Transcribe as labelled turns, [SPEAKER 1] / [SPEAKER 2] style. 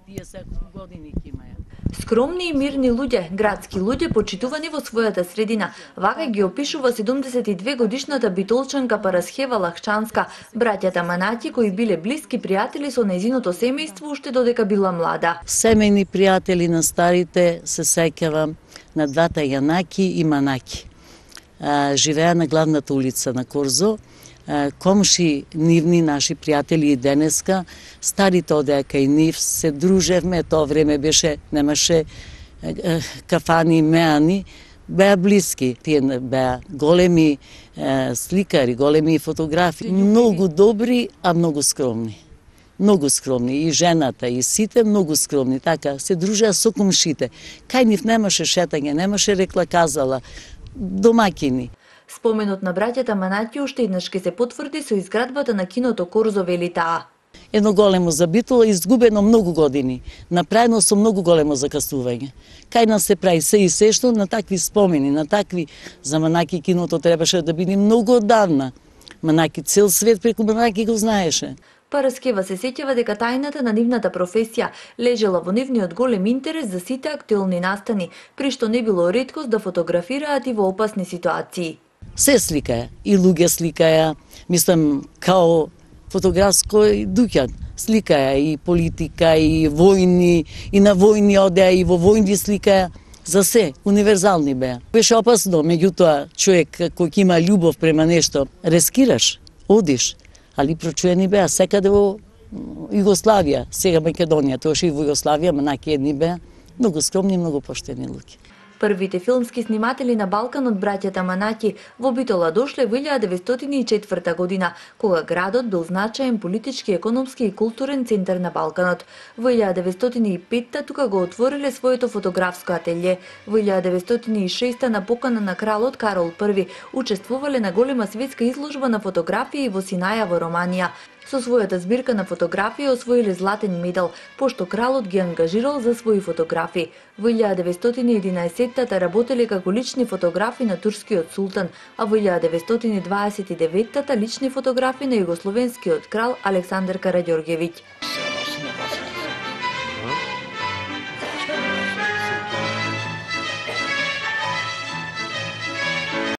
[SPEAKER 1] Тие секој години ќе имаја.
[SPEAKER 2] Скромни и мирни луѓе, градски луѓе почитувани во својата средина. Вака ги опишува 72 годишната битолчанка Парасхева Лахчанска, браќата Манати кои биле блиски пријатели со нејзиното семејство уште додека била млада.
[SPEAKER 1] Семејни пријатели на старите се сеќавам на двата Јанаки и Манаки. Живеа на главната улица на Корзо. Комши нивни, наши пријатели и денеска, старите одеа кај нив, се дружевме, тоа време немаше кафани, меани, беа блиски. Тие беа големи сликари, големи фотографи, многу добри, а многу скромни. Многу скромни, и жената, и сите многу скромни, така, се дружеа со комшите. Кај нив немаше шетање, немаше рекла казала, домакини.
[SPEAKER 2] Споменот на браќата Манати уште еднаш ќе се потврди со изградбата на киното Корзо, вели таа.
[SPEAKER 1] Едно големо забитало, изгубено многу години, направено со многу големо закасување. Кај нас се прави се и се што на такви спомени, на такви, за Манаки киното требаше да биде многу оддавна. Манаки, цел свет преку Манаки го знаеше.
[SPEAKER 2] Параскева се сеќава дека тајната на нивната професија лежела во нивниот голем интерес за сите актуелни настани, при што не било реткост да фотографираат и во опасни ситуации.
[SPEAKER 1] Се сликаја, и луѓе сликаја, мислам, као фотографској дуќан. Сликаја и политика, и војни, и на војни одеа, и во војни сликаја. За се, универзални беа. Беше опасно, меѓутоа, човек кој има љубов према нешто, рескираш, одиш, али прочуени беа секаде во Југославија, сега Македонија, тоа и во Југославија, Манаки едни беа, многу скромни, многу поштени луѓе.
[SPEAKER 2] Првите филмски сниматели на Балканот, браќата Манати, во Битола дошле во 1904 година, кога градот бил значаен политички, економски и културен центар на Балканот. Во 1905 тука го отвориле своето фотографско ателје. Во 1906 на покана на кралот Карол I учествувале на голема светска изложба на фотографии во Синаја во Романија. Со својата збирка на фотографии освоиле златен медал, пошто кралот ги ангажирал за своји фотографии. Во 1911 работеле како лични фотографи на турскиот султан, а во 1929 лични фотографи на југословенскиот крал Александар Караѓорѓевиќ.